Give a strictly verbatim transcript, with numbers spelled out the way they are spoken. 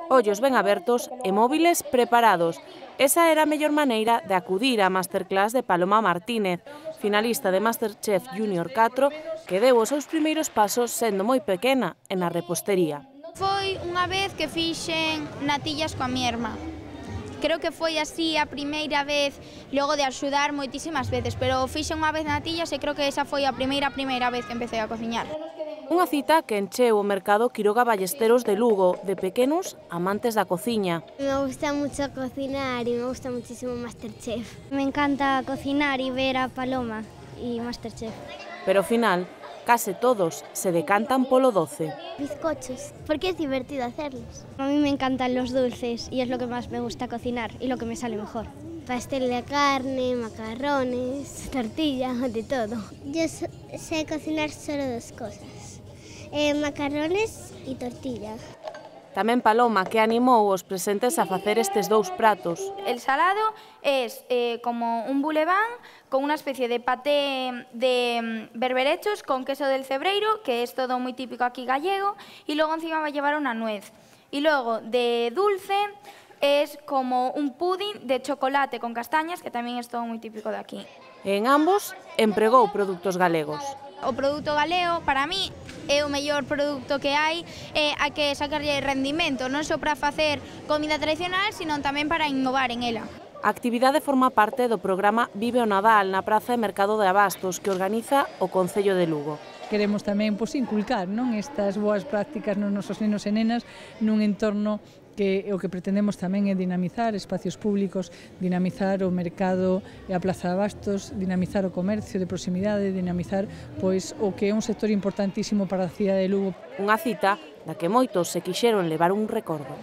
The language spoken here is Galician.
Ollos ben abertos e móviles preparados. Esa era a mellor maneira de acudir á masterclass de Paloma Martínez, finalista de Masterchef Junior catro, que deu os seus primeiros pasos sendo moi pequena e na repostería. Foi unha vez que fixen natillas coa mi irmá. Creo que foi así a primeira vez, logo de axudar moitísimas veces, pero fixen unha vez natillas e creo que esa foi a primeira, primeira vez que empecé a cociñar. Unha cita que encheu o mercado Quiroga Ballesteros de Lugo, de pequenos amantes da cociña. Me gusta mucho cocinar y me gusta muchísimo Masterchef. Me encanta cocinar y ver a Paloma y Masterchef. Pero ao final, case todos se decantan polo doce. Bizcochos, porque es divertido hacerlos. A mí me encantan los dulces y es lo que más me gusta cocinar y lo que me sale mejor. Pastel de carne, macarrones, tortilla, de todo. Yo sé cocinar solo dos cosas, eh, macarrones y tortilla. Tamén Paloma, que animou os presentes a facer estes dous pratos. El salado es eh, como un bouleván con una especie de paté de berberechos con queso del cebreiro, que es todo muy típico aquí gallego, y luego encima va a llevar una nuez. Y luego de dulce es como un pudding de chocolate con castañas, que también es todo muy típico de aquí. En ambos empregou produtos galegos. O produto galego, para mí, é o mellor produto que hai, e hai que sacarlle rendimento, non só para facer comida tradicional, sino tamén para innovar en ela. A actividade forma parte do programa Vive o Nadal na Praza de Mercado de Abastos, que organiza o Concello de Lugo. Queremos tamén pois, inculcar non, estas boas prácticas nos nosos nenos e nenas nun entorno que o que pretendemos tamén é dinamizar espacios públicos, dinamizar o mercado e a Praza de Abastos, dinamizar o comercio de proximidade, dinamizar pois o que é un sector importantísimo para a cidade de Lugo. Unha cita da que moitos se quixeron levar un recordo.